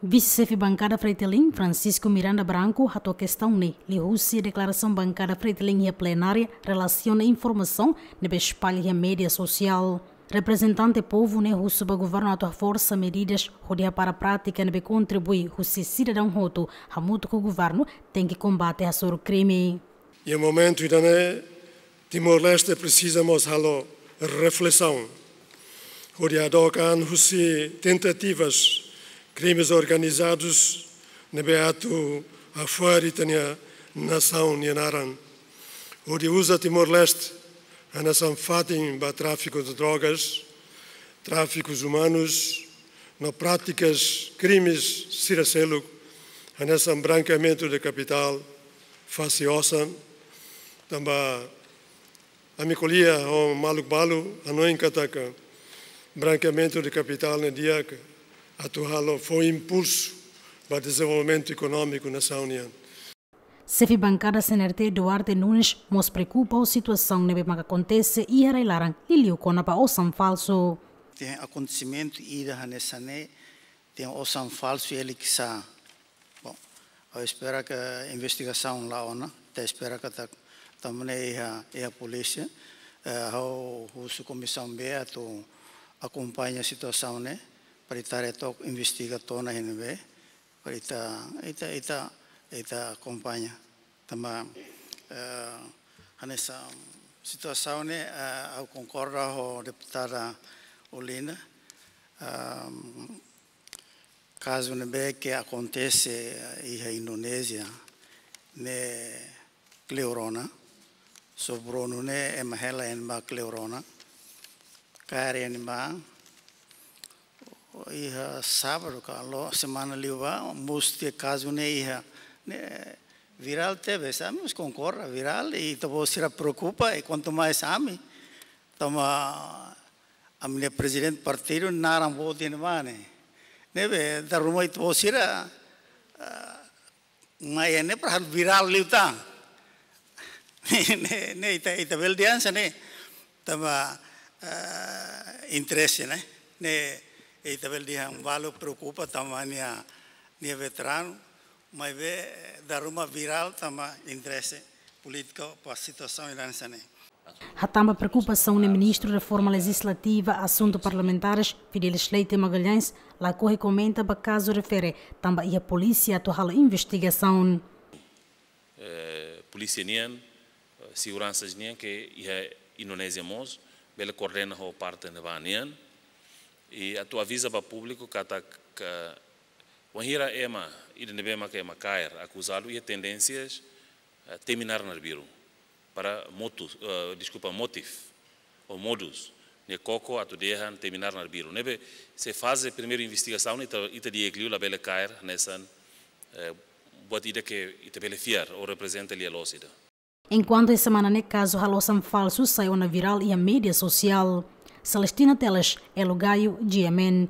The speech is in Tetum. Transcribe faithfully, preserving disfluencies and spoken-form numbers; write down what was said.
Vise-xefe bankada Fretilin, Francisco Miranda Branco, hato'o kestaun ne'e liuhusi deklarasaun bankada Fretilin iha plenária relasiona informasaun ne'ebé espalla iha média sosiál. Reprezentante povu ne'e husu ba governu atu haforsa medidas hodi hapara prátika ne'ebé kontribui husi sidadaun hotu hamutuk ho governu tenke kombate hasoru krime. Iha momentu ida-ne'e, Timor-Leste presiza mós halo reflesaun hodi hadook an husi tentativas krimes organizadus ne'ebé atu hafo'er ita-nia nasaun nia naran, hodi uza Timor-Leste hanesan fatin ba tráfiku de drogas, tráfikus umanus, no prátikas krimes sira seluk, hanesan brankeamentu de kapitál, fase osan. Tanba ami ko'alia ho maluk balu, hanoin katak brankeamentu de kapitál ne'e di'ak atu halo fó impulsu ba dezenvolvimentu ekonómiku nasaun nian. Xefe bankada C N R T, Duarte Nunes, mós preokupa ho situasaun ne'ebé maka akontese iha rai-laran, liuliu kona-ba osan falsu. Iha akontesimentu ida hanesan ne'e, iha osan falsu iha Likisá. Bom, ha'u espera katak investigasaun la'o ona, ita espera katak tanba ne'e iha, iha polísia, eh, ha'u husu Komisaun B atu akompaña situasaun ne'e, para ita haree took, investiga to'o iha ne'ebé, para ita, ita, ita, ita akompaña. Tanba, eh, hanesan situasaun ne'e, eh, ha'u konkorda ho deputada Olinda, ehm, kazu ne'ebé ke akontese iha Indonézia, ne'e kleur ona, sobronu ne'e ema hela iha ne'ebá kleur ona, kaer iha ne'ebá, iha sábadu ka loron semana liubá, mós iha kazu ne'e iha, ne'e virál tebes, ami mós konkorda virál, i ita-boot sira preokupa, i kuantu mais ami, tanba ami-nia prezidente partidu naran boot iha ne'ebá ne'e. Ne'ebé, dala ruma ita-boot sira, ah, mai ne'e para virál liután. Ne'e, ne'e ita, ita bele dehan hanesan ne'e, tanba, eh, interese ne'e. Ne'e ita bele dehan balu preokupa tanba nia, nia veteranu, maibé, eh, dala ruma virál tanba interese polítiku ba situasaun ida hanesan ne'e. Hatán ba preokupasaun ne'e Ministru Reforma Lejizlativa, Asuntu Parlamentares, Fidelis Leite Magalhães, lakohi komenta ba kazu refere, tanba iha polísia atu halo investigasaun. Eh, polísia nian, eh, seguransa nian ke iha Indonézia mós, bele koordena ho parte ne'ebá nian. I atu aviza ba públiku katak, wainhira ema, ida ne'ebé maka ema kaer, akuzadu iha tendénsias, eh, temi naran arbiru. Para motus, eh, deskulpa, motif, ou modus, ne'e koko atu dehan temi naran arbiru. Ne'ebé, se faze primeiru investigasaun, ita, ita di'ak liu labele kaer hanesan, eh, buat ida ke ita bele fiar, ou reprezenta lia-loos ida. Enkuantu iha semana ne'e kazu halo osan falsu sai ona virál iha média sosiál. Celestina Teles, Elo Gaio, G M N,